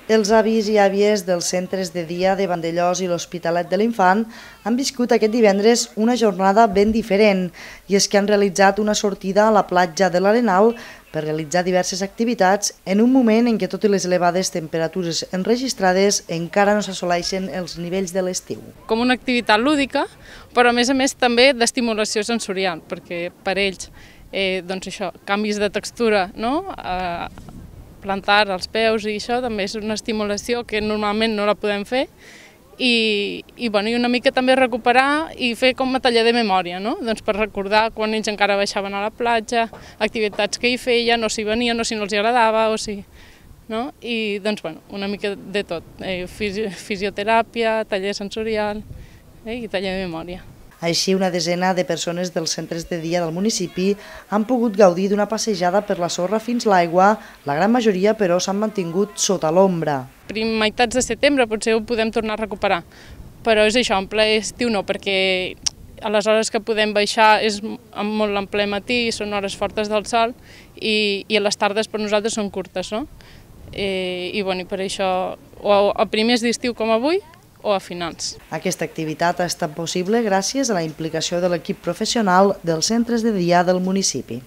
Els avis i àvies dels centres de dia de Vandellòs i l'Hospitalet de l'Infant han viscut aquest divendres una jornada ben diferent, i és que han realitzat una sortida a la platja de l'Arenal per realitzar diverses activitats en un moment en què, tot i les elevades temperatures enregistrades, encara no s'assoleixen els nivells de l'estiu. Com una activitat lúdica, però a més també d'estimulació sensorial, perquè per ells doncs això, canvis de textura, no? Plantar els peus i això també és una estimulació que normalment no la podem fer i una mica també recuperar i fer com a taller de memòria, no? Doncs per recordar quan ells encara baixaven a la platja, activitats que hi feien, o si venien o si no els agradava, o si... no? I doncs una mica de tot, fisioteràpia, taller sensorial i taller de memòria. Així, una desena de persones dels centres de dia del municipi han pogut gaudir d'una passejada per la sorra fins l'aigua, la gran majoria, però, s'han mantingut sota l'ombra. Meitats de setembre potser ho podem tornar a recuperar, però és això, en ple estiu no, perquè a les hores que podem baixar és molt en ple matí, són hores fortes del sol i a les tardes per nosaltres són curtes, no? I per això, o a primers d'estiu com avui, o a finals. Aquesta activitat ha estat possible gràcies a la implicació de l'equip professional dels centres de dia del municipi.